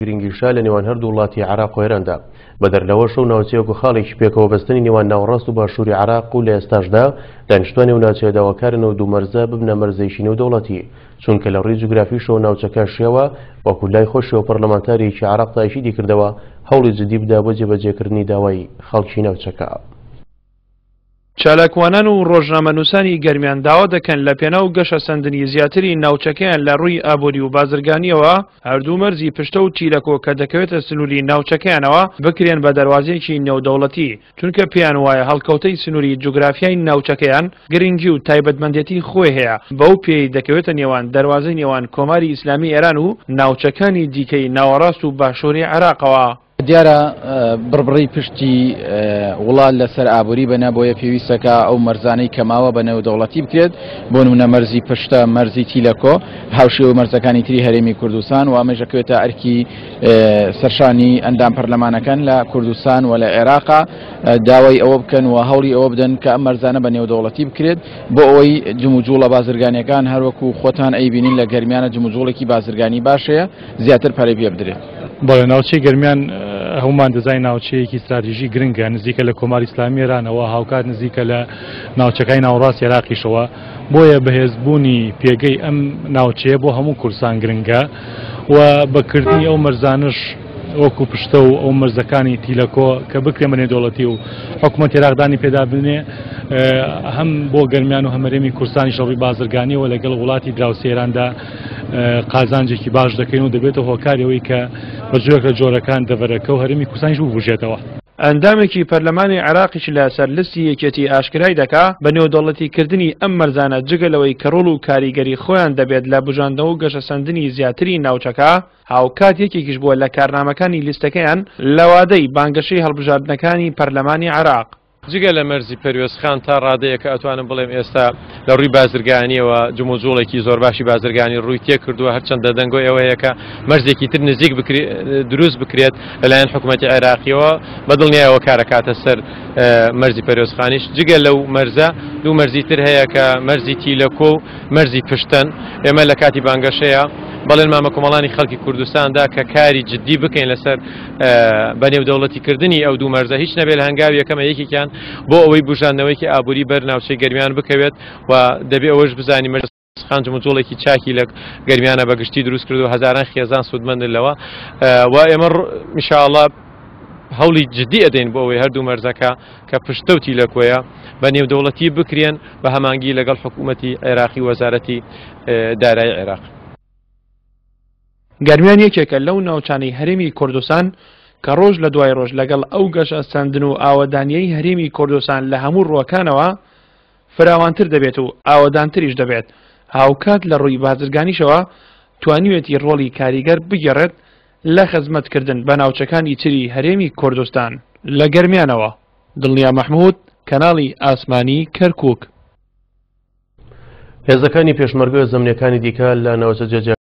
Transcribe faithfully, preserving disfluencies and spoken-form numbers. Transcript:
گرنگیشە لە نێوان هەردوو وڵاتی عێراق و ئێراندا. بەدەر لەوەش و ناوچەیەک و خاڵێکی پێکەوە بەستنی نێوان ناوەڕاست و باشووری عێراق و لە ئێستاشدا دانیشتوانی و ناوچەیە داواکارن و دوو مەرزە ببنە مەرزێکی نێودەوڵەتی، چونکە لە ڕووی جوگرافیشەوە ناوچەکە شێوە وەکو لای خۆشیەوە پەرلەمانتارێکی عێراق تاکیدی کردەوە هەوڵی جدی بدا بۆ جێبەجێکردنی داوای خەڵکی ناوچەکە. چالاکوانان و ڕۆژنامەنووسانی گەرمیان داوا دەکەن لە پێناو گەشەسەندنی زیاتری ناوچەکەیان لە ڕووی ئابووری و بازرگانیەوە هەردوو مەرزی پشتە و تیلەکۆ کە دەکەوێتە سنووری ناوچەکەیانەوە بکرێن بە دەواازێکی نێودەوڵەتی، چونکە پێیان وایە هەڵکەوتەی سنووری جوگرافیای ناوچەکەیان گرنگی و تایبەتمەندێتی خۆی هەیە، بەو پێی دەکەوێتە نێوان دەواازەی نێوان کۆماری ئیسلامی ئێران و ناوچەکانی دیکەی ناوەڕاست و باشووری عێراقەوە. دیارە بڕبڕی پشتی وڵات لەسەر ئابووری بەنا، بۆیە پێویستەکە ئەو مەرزانەی کەماوە بە نێودەوڵەتی بکرێت، بۆ نمونە مەرزی پشتە، مەرزی تیلەکۆ، هاوشێوە مەرزەکانی تری هەرێمی کوردستان و ئەمەش دەکەوێتە ئەرکی سەرشانی ئەندام پەرلەمانەکان لە کوردستان و لە عێراقا داوای ئەوە بکەن و هەوڵی ئەوە بدەن کە ئەم مەرزانە بە نێودەوڵەتی بکرێت بۆ ئەوەی جموجوڵە بازرگانیەکان هەروەکو خۆتان ئەیبینین لە گەرمیانە جموجوڵێکی بازرگانی باشەیە زیاتر پەرەی پێ بدرێت. بەڵێ، ناوچەی گەرمیان هەمومان دەزانین ناوچەیەکی استراتیژی گرنگە، نزیکە لە کۆماری ئیسلامی ئێرانەوە، هاوکات نزیکە لە ناوچەکانی ناوەڕاستی عێراقیشەوە، بۆیە بەهێزبوونی پێگەی ئەم ناوچەیە بۆ هەموو کوردستان گرنگە و بەکردنی ئەو مەرزانش وەکو پشتە و ئەو مەرزەکانی تیلەکۆ کە بکرێن بە نێودەوڵەتی و حکوومەت عێراقدانی پێدا بنێ، هەم بۆ گەرمیان و هەمەرێمی کوردستانی شەڕی بازرگانیەوە لەگەڵ وڵاتی دراوسێ ئێراندا قازانجێکی باش دەکەین و دەبێتە هۆکاری ئەوەی کە بە جۆرێک لە جۆرەکان دەڤەرەکە و هەرێمی کوردستانیش ببوژێتەوە. ئەندامێکی پەرلەمانی عێراقیش لەسەر لیستی یەکێتی ئاشکرای دەکا بە نێودەوڵەتیکردنی ئەم مەرزانە جگە لەوەی کە ڕۆڵ و کاریگەری خۆیان دەبێت لە بژاندنەوە و گەشەسەندنی زیاتری ناوچەکە، هاوکات یەکێکیش بووە لە کارنامەکانی لیستەکەیان لە وادەی بانگەشەی هەڵبژاردنەکانی پەرلەمانی عێراق. جگە لە مەرزی پەروێزخان تا ڕادەیەکە ئەتوانم بڵێم ئێستا لە ڕووی بازرگانیەوە جموجوڵێکی زۆر باشی بازرگانی ڕووی تێکردووە، هەرچەندە دەنگۆی ئەوەیە کە مەرزێکی تر نزیک دروست بکرێت لەلایەن حکوومەتی عێراقیەوە، بەدڵنیایەوە کارەکاتە سەر مەرزی پەروێزخانیش. جگە لەو مەرزە دوو مەرزی تر هەیە کە مەرزی تیلەکۆ و مەرزی پشتەن. ئێمە لە کاتی بانگەشەیە بەڵێن مامە کۆمەڵانی خەڵکی کوردستاندا کە کاری جدی بکەین لەسەر بە نێودەوڵەتیکردنی ئەو دوو مەرزە، هیچ نەبێت لە هەنگاوی یەکەمە یەکێکیان بۆ ئەوەی بژاندنەوەیەکی ئابووری بەر ناوچەی گەرمیان بکەوێت و دەبێ ئەوەش بزانین مەرزخان جموجوڵێکی چاکی لە گەرمیانە بەگشتی دروست کرد و هەزاران خێزان سوودمەندن لەوە و ئێمە ئینشاءڵڵا هەوڵی جدی ئەدەین بۆ ئەوەی هەردوو مەرزەکە کە پشتە و تیلەکۆیە بە نێودەوڵەتی بکرێن بە هەمانگی لەگەڵ حکوومەتی عێراقی وەزارەتی دارایی عێراق. گەرمیان یەکێکە لەو ناوچانەی هەرێمی کوردستان کە ڕۆژ لە دوای ڕۆژ لەگەڵ ئەو گەشەسەندن و ئاوەدانیەی هەرێمی کوردستان لە هەموو ڕووەکانەوە فراوانتر دەبێت و ئاوەدانتریش دەبێت، هاوکات لە ڕووی بازرگانیشەوە توانیوێتی ڕۆڵی کاریگەر بگێڕێت لە خزمەتکردن بە ناوچەکانی تری هەرێمی کوردستان. لە گەرمیانەوە دڵنیا مەحمود، کەناڵی ئاسمانی کەرکووک. هێزەکانی پێشمەرگە زەمنیەکانی دیکە لە ناوچە جێجێ